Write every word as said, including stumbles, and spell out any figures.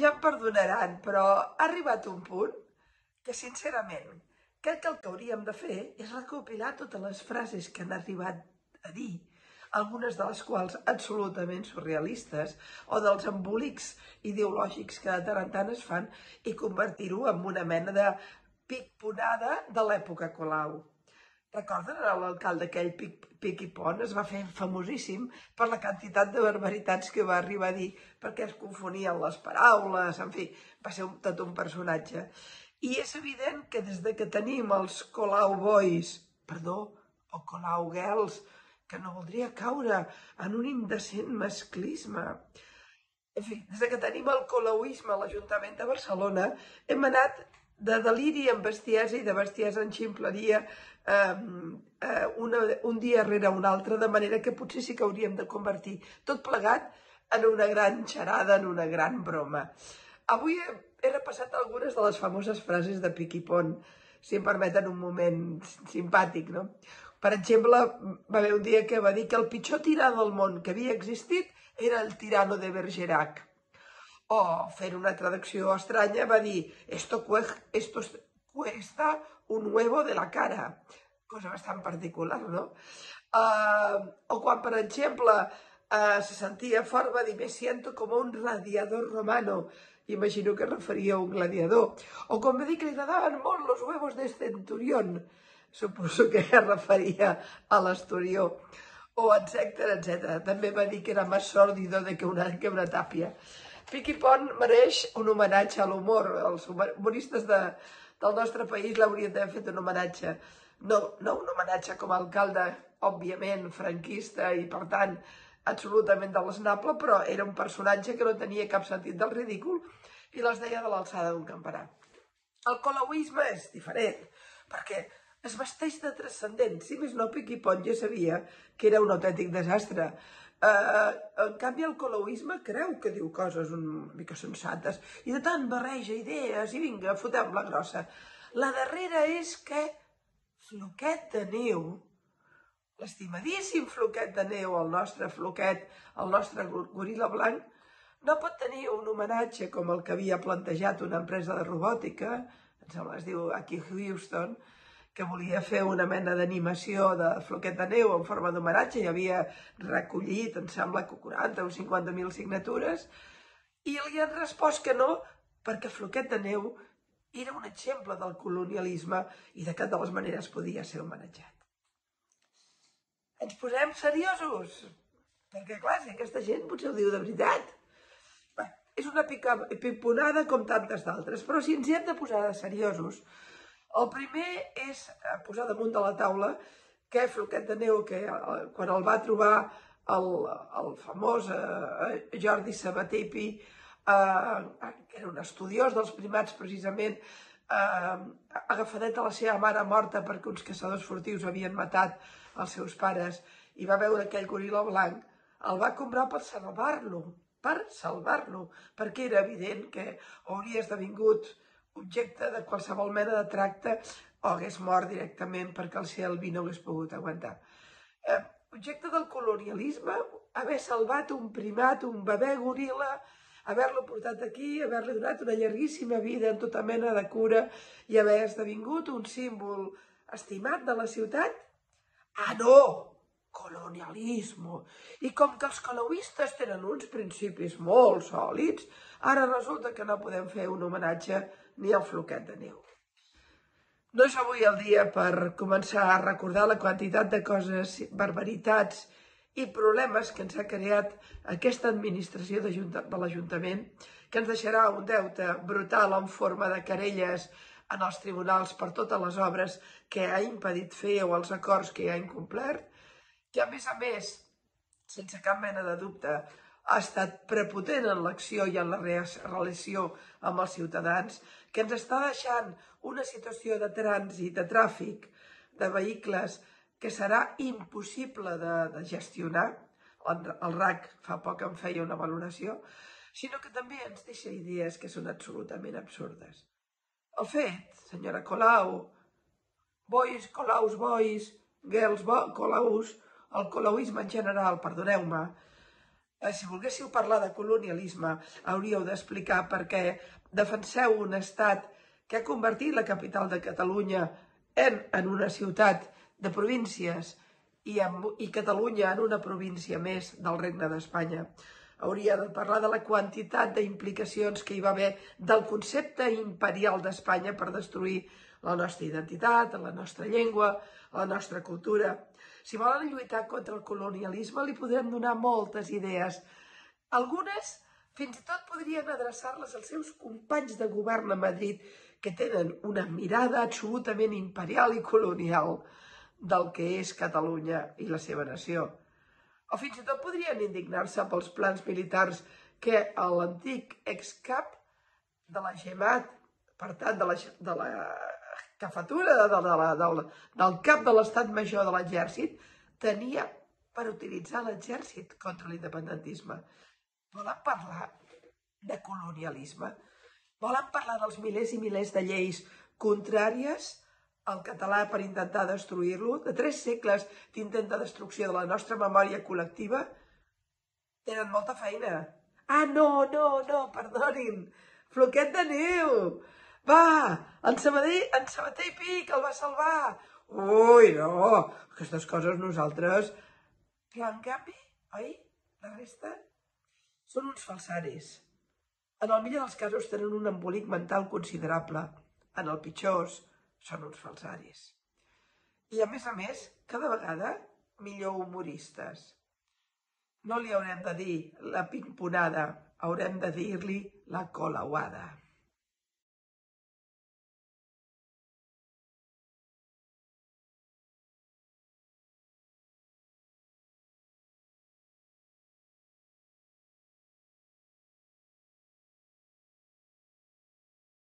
ja em perdonaran, però ha arribat un punt que, sincerament, crec que el que hauríem de fer és recopilar totes les frases que han arribat a dir, algunes de les quals absolutament surrealistes, o dels embolics ideològics que de tant en tant es fan, i convertir-ho en una mena de pic-ponada de l'època Colau. Recorden l'alcalde aquell Pic i Pont? Es va fer famosíssim per la quantitat de barbaritats que va arribar a dir, perquè es confonien les paraules, en fi, va ser tot un personatge. I és evident que des de que tenim els Colau Boys, perdó, o Colau Girls, que no voldria caure en un indecent masclisme. En fi, des de que tenim el colauisme a l'Ajuntament de Barcelona, hem anat de deliri en bestiesa i de bestiesa en ximpleria eh, eh, una, un dia rere un altre, de manera que potser sí que hauríem de convertir tot plegat en una gran xarada, en una gran broma. Avui he, he repassat algunes de les famoses frases de Pic i Pont, si em permeten un moment simpàtic, no? Per exemple, va haver un dia que va dir que el pitjor tirà del món que havia existit era el tirano de Bergerac. O, fent una traducció estranya, va dir esto, esto cuesta un huevo de la cara. Cosa bastant particular, no? Uh, o quan, per exemple, uh, se sentia fort, va dir me siento como un radiador romano. Imagino que es referia a un gladiador. O quan va dir que li agradaven molt los huevos de centurión. Suposo que es referia a l'Esturió. O etcètera, etcètera. També va dir que era més sòrdido de que una, que una tàpia. Pic i Pont mereix un homenatge a l'humor. Els humoristes de, del nostre país l'haurien d'haver fet un homenatge. No, no un homenatge com a alcalde, òbviament, franquista i, per tant, absolutament deleznable, però era un personatge que no tenia cap sentit del ridícul i les deia de l'alçada d'un campanar. El colauisme és diferent, perquè es vesteix de transcendent. Si més no, Pic i Pont ja sabia que era un autèntic desastre. Uh, en canvi, el colauisme creu que diu coses una mica sensates i de tant barreja idees i vinga, fotem la grossa. La darrera és que Floquet de Neu, l'estimadíssim Floquet de Neu, el nostre Floquet, el nostre goril·la blanc, no pot tenir un homenatge com el que havia plantejat una empresa de robòtica, em sembla que es diu aquí Houston, que volia fer una mena d'animació de Floquet de Neu en forma d'homenatge i havia recollit, em sembla, quaranta o cinquanta mil signatures, i li han respost que no, perquè Floquet de Neu era un exemple del colonialisme i de cap de les maneres podia ser homenatjat. Ens posem seriosos, perquè clar, si aquesta gent potser ho diu de veritat. Bé, és una piponada com tantes d'altres, però si ens hi hem de posar de seriosos, el primer és posar damunt de la taula que Floquet de Neu, que quan el va trobar el, el famós eh, Jordi Sabater i Pi, eh, que era un estudiós dels primats precisament, eh, agafadet a la seva mare morta perquè uns caçadors furtius havien matat els seus pares i va veure aquell goril·la blanc, el va comprar per salvar-lo, per salvar-lo, perquè era evident que hauria esdevingut objecte de qualsevol mena de tracte o hagués mort directament perquè el C L B no hagués pogut aguantar. Eh, objecte del colonialisme, haver salvat un primat, un bebè goril·la, haver-lo portat aquí, haver-li donat una llarguíssima vida en tota mena de cura i haver esdevingut un símbol estimat de la ciutat? Ah, no! Colonialisme. I com que els colauistes tenen uns principis molt sòlids, ara resulta que no podem fer un homenatge ni al Floquet de Neu. No és avui el dia per començar a recordar la quantitat de coses, barbaritats i problemes que ens ha creat aquesta administració de l'Ajuntament, que ens deixarà un deute brutal en forma de querelles en els tribunals per totes les obres que ha impedit fer o els acords que ha incomplert, que a més a més, sense cap mena de dubte, ha estat prepotent en l'acció i en la relació amb els ciutadans, que ens està deixant una situació de trànsit, de tràfic, de vehicles, que serà impossible de, de gestionar. El, el R A C fa poc en feia una valoració, sinó que també ens deixa idees que són absolutament absurdes. El fet, senyora Colau, boys, Colaus, boys, girls, bo, Colaus, el colauisme en general, perdoneu-me, Si volguéssiu parlar de colonialisme, hauríeu d'explicar per què defenseu un estat que ha convertit la capital de Catalunya en, en una ciutat de províncies i, en, i Catalunya en una província més del Regne d'Espanya. Hauria de parlar de la quantitat d'implicacions que hi va haver del concepte imperial d'Espanya per destruir la nostra identitat, la nostra llengua, la nostra cultura. Si volen lluitar contra el colonialisme, li podrem donar moltes idees. Algunes fins i tot podrien adreçar-les als seus companys de govern a Madrid, que tenen una mirada absolutament imperial i colonial del que és Catalunya i la seva nació. O fins i tot podrien indignar-se pels plans militars que l'antic excap de la GEMAT, per tant, de la, de la cafatura de, de la, del, del cap de l'estat major de l'exèrcit, tenia per utilitzar l'exèrcit contra l'independentisme. Volen parlar de colonialisme? Volen parlar dels milers i milers de lleis contràries al català per intentar destruir-lo? De tres segles d'intent de destrucció de la nostra memòria col·lectiva? Tenen molta feina. Ah, no, no, no, perdonin. Floquet de neu. Va, en Sabater, en Sabater i Pic el va salvar. Ui, no, aquestes coses nosaltres... Però en canvi, oi? La resta són uns falsaris. En el millor dels casos tenen un embolic mental considerable. En el pitjor són uns falsaris. I a més a més, cada vegada millor humoristes. No li haurem de dir la pimponada, haurem de dir-li la colauada.